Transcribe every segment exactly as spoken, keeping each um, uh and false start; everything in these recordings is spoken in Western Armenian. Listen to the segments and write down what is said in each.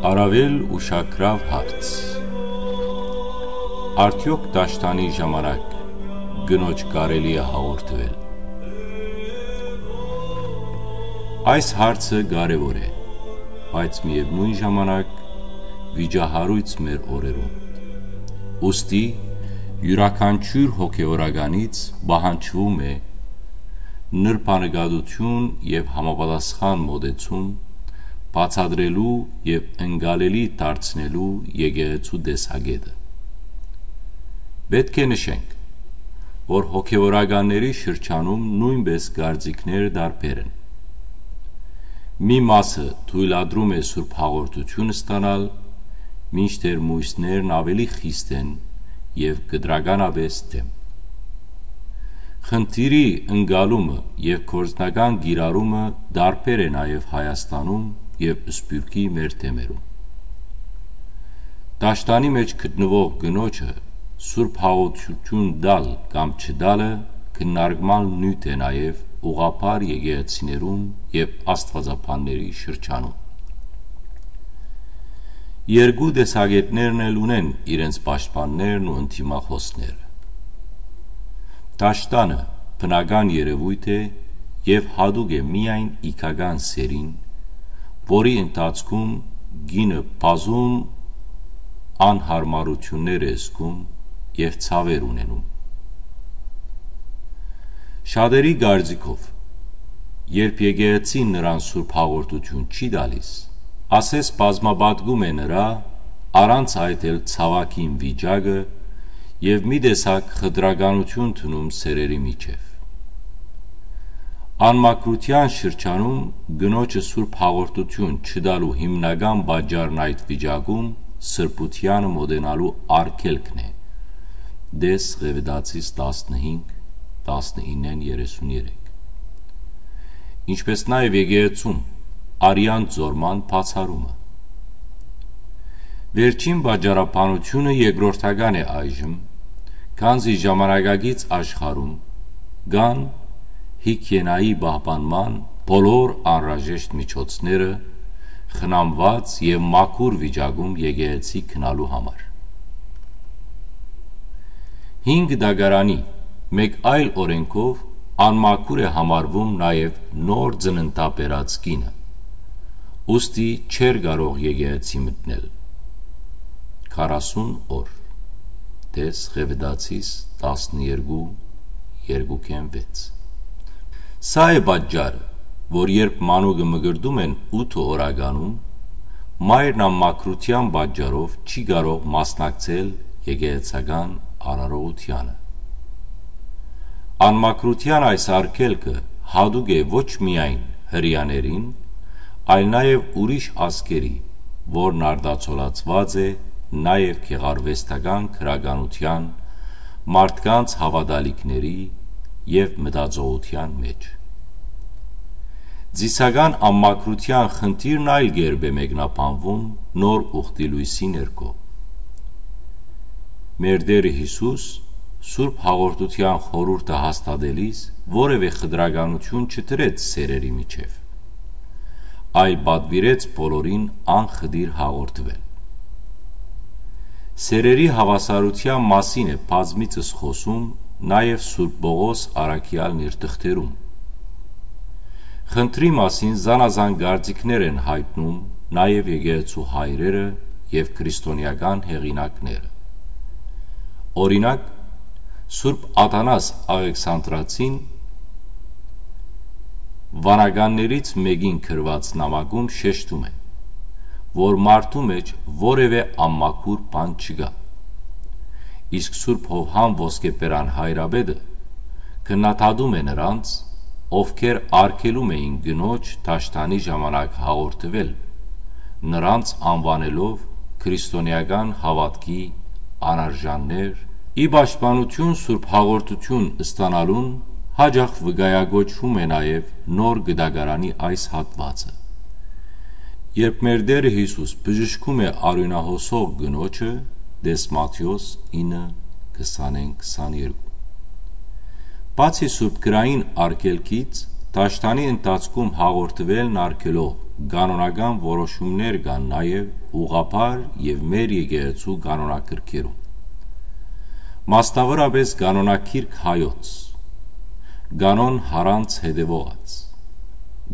Առաւել ուշագրաւ հարց։ Արդեօք դաշտանի ժամանակ կնոջ կարելի՞ է հաղորդուել։ Այս հարցը կարեւոր է, բայց միեւնոյն ժամանակ վիճահարոյց մեր օրերուն։ Ուստի իւրաքանչիւր հոգեորականից պահանջվում է նրբանկատություն եւ համապատասխան մոտեցում բացատրելու եւ ընկալելի դարձնելու եկեղեցու տեսակէտը։ Պէտք է նշենք, որ հոգեորականների շրջանում նոյնպէս կարծիքներ տարբեր են։ Մի մասը թոյլատրում է Սուրբ Հաղորդութիւն ստանալ, մինչդեռ միւսներն աւելի խիստ են եւ կտրականապէս դէմ։ Խնդիրի ընկալումը եւ գործնական կիրառումը տարբեր է նաեւ Հայաստանում եւ Սփիւռքի մեր թեմերուն։ Դաշտանի մէջ գտնուող կնոջը Սուրբ Հաղորդութիւն տալ կամ չտալը քննարկման նիւթ է նաեւ ուղղափառ եկեղեցիներուն եւ աստուածաբանների շրջանում։ Երկու տեսակէտներն էլ ունեն իրենց պաշտպաններն ու ընդդիմախօսները։ Դաշտանը բնական երեւոյթ է եւ յատուկ է միայն իգական սերին, որի ընթացքում կինը բազում անյարմարութիւններ է զգում եւ ցաւեր ունենում։ Շատերի կարծիքով, երբ եկեղեցին նրան Սուրբ Հաղորդութիւն չի տալիս, ասես բազմապատկում է նրա, առանց այդ էլ ցաւագին վիճակը եւ մի տեսակ խտրականութիւն դնում սերերի միջեւ։ Անմաքրութեան շրջանում կնոջը Սուրբ Հաղորդութիւն չտալու հիմնական պատճառն այդ վիճակում սրբութեանը մոտենալու արգելքն է, տես Ղեւտացիս տասնհինգ, տասնիննէն երեսուն երեք, ինչպէս նաեւ եկեղեցում արեան ձորման բացառումը։ Վերջին պատճառաբանութիւնը երկրորդական է այժմ, քանզի ժամանակակից աշխարհում կան հիգիենայի պահպանման բոլոր անհրաժեշտ միջոցները, խնամուած եւ մաքուր վիճակում եկեղեցի գնալու համար։ Հինգ դագարանի մէկ այլ օրէնքով անմաքուր է համարվում նաեւ նոր ծննդաբերած կինը, ուստի չէր կարող եկեղեցի մտնել քառասուն օր, տես Ղեւտացիս տասներկու, երկուքէն վեց։ Սա է պատճառը, որ երբ մանուկը մկրտում են ութ օրականում, մայրն անմաքրութեան պատճառով չի կարող մասնակցել եկեղեցական արարողությանը։ Անմաքրութեան այս արգելքը յատուկ է ոչ միայն հրեաներին, այլ նաեւ ուրիշ ազգերի, որն արտացոլացուած է նաեւ գեղարուեստական գրականութեան, մարդկանց հաւատալիքների եւ մտածողութեան մէջ։ Ծիսական անմաքրութեան խնդիրն այլ կերպ է մեկնաբանվում նոր ուխտի լոյսի ներքո։ Մեր Տէրը Յիսուս Սուրբ Հաղորդութեան խորհուրդը հաստատելիս որեւէ խտրականութիւն չդրեց սերերի միջեւ, այլ պատուիրեց բոլորին անխտիր հաղորդուել։ Սերերի հաւասարութեան մասին է բազմիցս խօսում նաեւ Սուրբ Պողոս առաքեալն իր թղթերուն։ Խնդրի մասին զանազան կարծիքներ են յայտնում նաեւ եկեղեցու հայրերը եւ քրիստոնեական հեղինակները։ Օրինակ, Սուրբ Աթանաս Աղեքսանդրացին վանականներից մէկին գրուած նամակում շեշտում է, որ մարդու մէջ որեւէ անմաքուր բան չկայ։ Իսկ Սուրբ Յովհան Ոսկեբերան հայրապետը քննադատում է նրանց, ովքեր արգելում էին կնոջ դաշտանի ժամանակ հաղորդուել, նրանց անուանելով քրիստոնեական հաւատքի անարժաններ, ի պաշտպանութիւն Սուրբ Հաղորդութիւն ստանալուն հաճախ վկայակոչվում է նաեւ Նոր Կտակարանի այս հատուածը, երբ մեր Տէրը Յիսուս բժշկում է արիւնահոսող կնոջը, տես Մատթէոս ինը, քսանէն, քսաներկու։ Բացի սուրբ գրային արգելքից, դաշտանի ընթացքում հաղորդուելն արգելող կանոնական որոշումներ կան նաեւ ուղղափառ եւ մեր եկեղեցու կանոնագրքերուն։ Մասնաւորապէս կանոնագիրք հայոց, կանոն յառանց հետեւողած,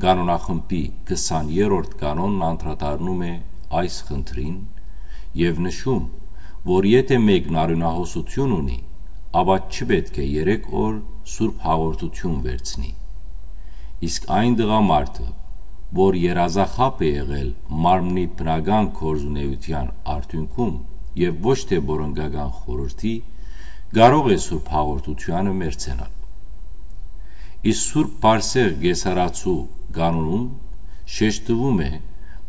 կանոնախմբի քսաներորդ կանոնն անդրադառնում է այս խնդրին եւ նշում, որ եթէ մեկն արիւնահոսութիւն ունի, ապա չպետք է երեք օր սուրբ հաղորդութիւն վերցնի։ Իսկ այն տղամարդը, որ երազախապ է եղել մարմնի բնական գործունեութեան արդիւնքում եւ ոչ թէ պորնկական խորհրդի, կարող է սուրբ հաղորդութեանը մերձենալ։ Իսկ Սուրբ Բարսեղ Կեսարացու կանոնում շեշտուում է,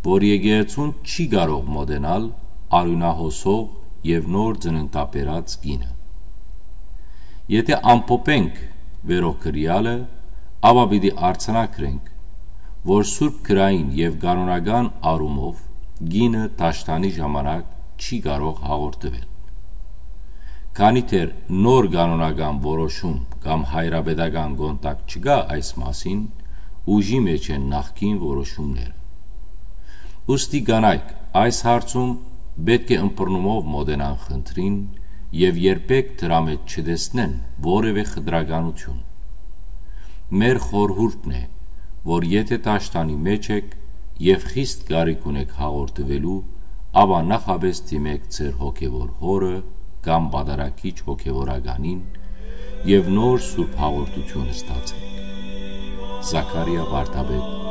որ եկեղեցուն չի կարող մօտենալ արիւնահոսող եւ նոր ծննդաբերած կինը։ Եթէ ամփոփենք վերոքրեալը, ապա պիտի արձանագրենք, որ Սուրբ Գրային եւ կանոնական առումով կինը դաշտանի ժամանակ չի կարող հաղորդվել։ Քանի դեռ նոր կանոնական որոշում կամ հայրապետական կոնտակտ չկայ այս մասին, ուժի մէջ են նախկին որոշումները։ Ուստի կանայք այս հարցում պէտք է ըմբռնումով մօտենան խնդրին եւ երբեք դրա մէջ չտեսնեն որեւէ խտրականութիւն։ Մեր խորհուրդն է, որ եթէ դաշտանի մէջ էք եւ խիստ կարիք ունէք հաղորդուելու, ապա նախապէս դիմէք ձեր հոգեւոր հօրը կամ պատարագիչ հոգեւորականին եւ նոր սուրբ հաղորդութիւն ստացէք։ Զաքարիա Վարդապետ